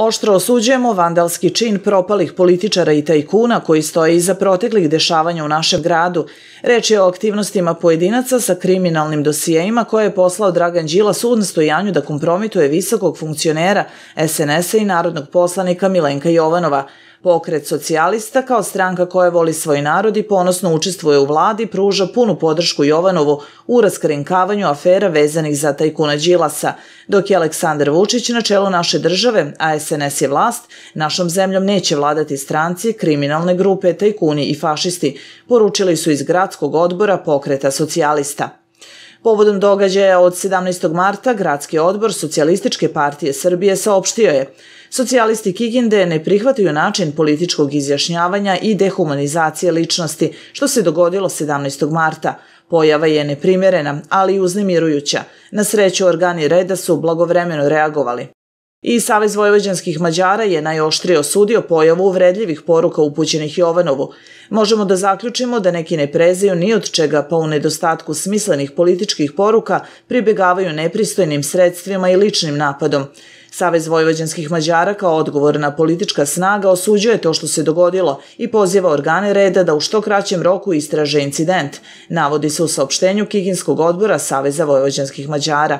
Oštro osuđujemo vandalski čin propalih političara i tajkuna koji stoje iza proteklih dešavanja u našem gradu. Reč je o aktivnostima pojedinaca sa kriminalnim dosijeima koje je poslao Dragan Đilas u nastojanju da kompromituje visokog funkcionera SNS-a i narodnog poslanika Milenka Jovanova. Pokret socijalista, kao stranka koja voli svoj narod i ponosno učestvuje u vladi, pruža punu podršku Jovanovu u raskrinkavanju afera vezanih za tajkuna Đilasa. Dok je Aleksandar Vučić na čelu naše države, a SNS je vlast, našom zemljom neće vladati stranci, kriminalne grupe, tajkuni i fašisti, poručili su iz gradskog odbora Pokreta socijalista. Povodom događaja od 17. marta Gradski odbor Socijalističke partije Srbije saopštio je: socijalisti Kikinde ne prihvataju način političkog izjašnjavanja i dehumanizacije ličnosti, što se dogodilo 17. marta. Pojava je neprimerena, ali i uznemirujuća. Na sreću, organi reda su blagovremeno reagovali. I Savez vojvođanskih Mađara je najoštrije osudio pojavu uvredljivih poruka upućenih Jovanovu. Možemo da zaključimo da neki ne prezaju ni od čega, pa u nedostatku smislenih političkih poruka pribegavaju nepristojnim sredstvima i ličnim napadom. Savez vojvođanskih Mađara kao odgovorna politička snaga osuđuje to što se dogodilo i poziva organe reda da u što kraćem roku istraže incident, navodi se u saopštenju Kikinskog odbora Saveza vojvođanskih Mađara.